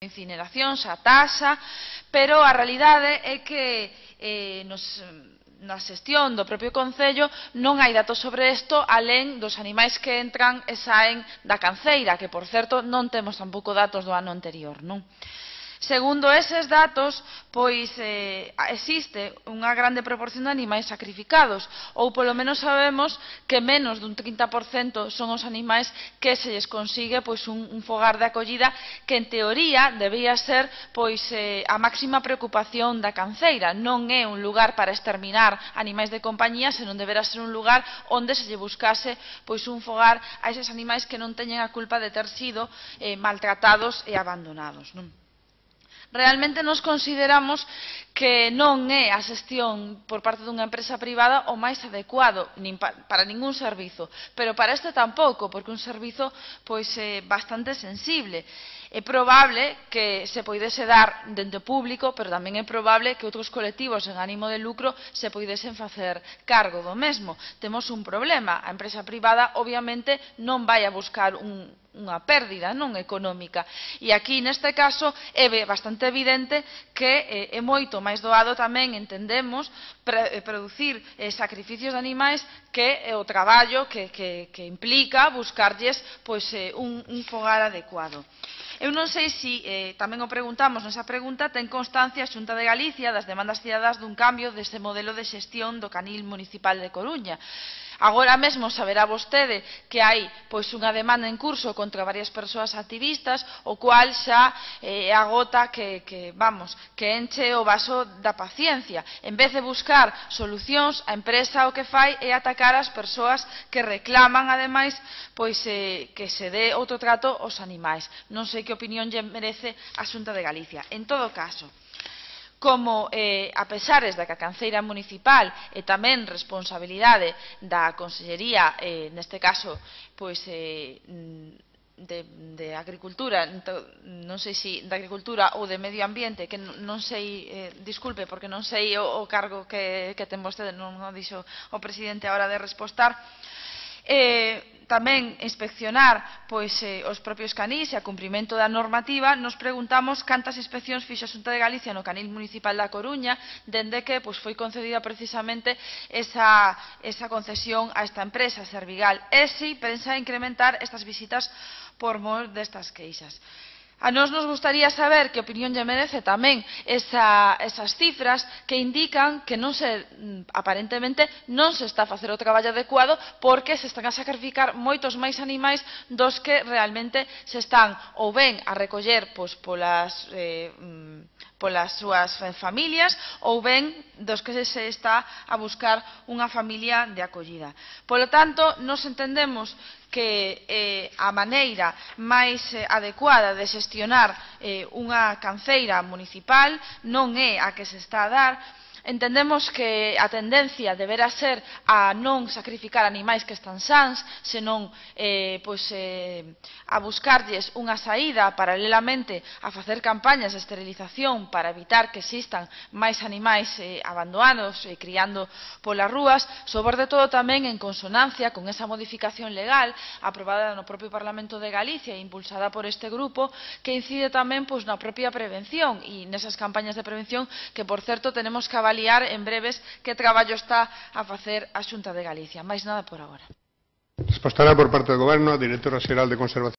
incineracións, a taxa, pero a realidade é que na xestión do propio Concello non hai datos sobre isto alén dos animais que entran e saen da canceira, que, por certo, non temos tampouco datos do ano anterior, non? Segundo eses datos, pois existe unha grande proporción de animais sacrificados, ou polo menos sabemos que menos dun 30% son os animais que se lles consigue pois un fogar de acollida, que en teoría debía ser pois a máxima preocupación da canceira. Non é un lugar para exterminar animais de compañía, senón deberá ser un lugar onde se lle buscase pois un fogar a eses animais que non teñen a culpa de ter sido maltratados e abandonados, non? Realmente nos consideramos que non é a xestión por parte dunha empresa privada o máis adecuado para ningún servizo, pero para este tampouco, porque un servizo pois bastante sensible. É probable que se poidese dar dende o público, pero tamén é probable que outros colectivos en ánimo de lucro se poidesen facer cargo do mesmo. Temos un problema. A empresa privada, obviamente, non vai a buscar unha pérdida non económica. E aquí, neste caso, é bastante evidente que é moito máis doado tamén, entendemos, producir sacrificios de animais que o traballo que implica buscarlles un fogar adecuado. Eu non sei se, tamén o preguntamos nesa pregunta, ten constancia a Xunta de Galicia das demandas cidadás dun cambio deste modelo de xestión do canil municipal de Coruña. Agora mesmo saberá vostede que hai pois unha demanda en curso contra varias persoas activistas, o cual xa a gota que enche o vaso da paciencia. En vez de buscar solucións, a empresa o que fai é atacar as persoas que reclaman, ademais, pois que se dé outro trato aos animais. Non sei que opinión lle merece a Xunta de Galicia. En todo caso, como a pesares da que a canceira municipal é tamén responsabilidade da Consellería, neste caso, pois de Agricultura, non sei se de Agricultura ou de Medio Ambiente, que non sei, disculpe, porque non sei o cargo que ten vostede, non o dixo o presidente a hora de respostar, tamén inspeccionar os propios canís e a cumprimento da normativa. Nos preguntamos cantas inspeccións fixo a Xunta de Galicia no canil municipal da Coruña dende que foi concedida precisamente esa concesión a esta empresa, Servigal, e se pensa incrementar estas visitas por mor destas queixas. A nós nos gustaría saber que opinión lle merece tamén esas cifras que indican que aparentemente non se está a facer o traballo adecuado, porque se están a sacrificar moitos máis animais dos que realmente se están ou ben a recoller polas súas familias ou ben dos que se está a buscar unha familia de acollida. Polo tanto, nos entendemos que a maneira máis adecuada de xestionar unha canceira municipal non é a que se está a dar. Entendemos que a tendencia deberá ser a non sacrificar animais que están sans, senón a buscarlles unha saída paralelamente a facer campañas de esterilización para evitar que existan máis animais abandonados e criando polas rúas, sobre todo tamén en consonancia con esa modificación legal aprobada no propio Parlamento de Galicia e impulsada por este grupo, que incide tamén na propia prevención e nesas campañas de prevención que, por certo, tenemos que avaliar en breves que traballo está a facer a Xunta de Galicia. Máis nada por agora. Respostará por parte do Goberno a Directora Xeral de Conservación.